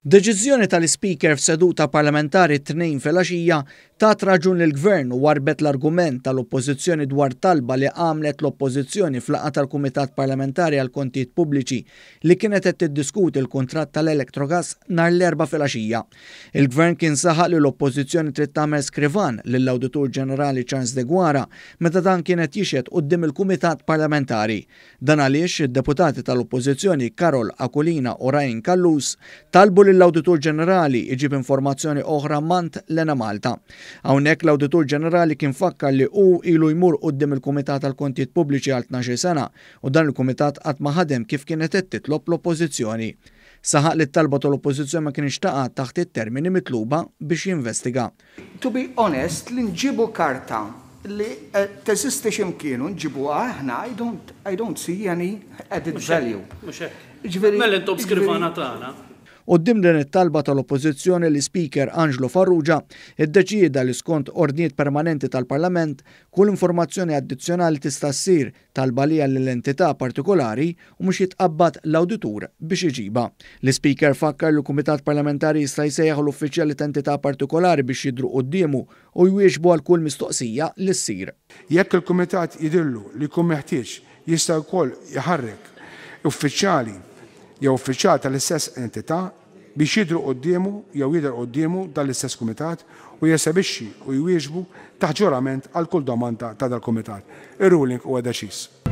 Deċiżjoni tal-Ispeaker f'seduta parlamentari t-Tnejn filgħaxija tat raġun lill-Gvern u warrbet l-argument tal-Oppożizzjoni dwar talba li għamlet l-Oppożizzjoni f'laqgħa tal-Kumitat Parlamentari għall-Kontijiet Pubbliċi li kienet qed tiddiskuti l-kuntratt tal-Electrogas nhar l-Erbgħa filgħaxija. Il-Gvern kien saħaq li l-Oppożizzjoni trid tagħmel skrivan lill-Awditur Ġenerali Charles Deguara meta dan kien qed jixhed quddiem il-Kumitat Parlamentari. Dan għaliex id-deputati tal-Oppożizzjoni Karol Aquilina u Ryan Callus talbu lill-Awditur Ġenerali jġib informazzjoni oħra m'għand l-Enemalta. Hawnhekk l-Awditur Ġenerali kien fakkar li hu ilu jmur quddiem il-Kumitat għall-Kontijiet Pubbliċi għal 12 sena u dan il-kumitat qatt ma ħadem kif kienet qed titlob l-Oppożizzjoni. Saħaq li t-talba tal-Oppożizzjoni ma kinitx taqa' taħt it-termini mitluba biex jinvestiga. To be honest, li nġibu karta li teżisti xi mkien u nġibuha aħna, I don't, I don't see any added value. Mhux hekk. Jiġifieri. Mela intom skrivana tagħna. Quddiem din it-talba tal-Oppożizzjoni l-Ispeaker Angelo Farrugia ddeċieda li skont ordnijiet permanenti tal-Parlament kull informazzjoni addizzjonali tista' ssir Talba għaliha lil entità partikolari u mhux jitqabbad l-awditur biex iġibha. L-Ispeaker fakkar li l-Kumitat Parlamentari jista' jsejjaħ l-uffiċjali ta' entità partikolari biex jidhru quddiemu u jwieġbu għal kull mistoqsija li ssir. Jekk il-Kumitat jidhirlu li jkun meħtieġ, jista' wkoll iħarrek uffiċjali jew uffiċjal tal-istess entità biex jidhru quddiemu jew jidher quddiemu dan l-istess kumitat u jesebixxi u jwieġbu taħt ġurament għal kull domanda ta' dal-kumitat. Ir-ruling huwa deċiż.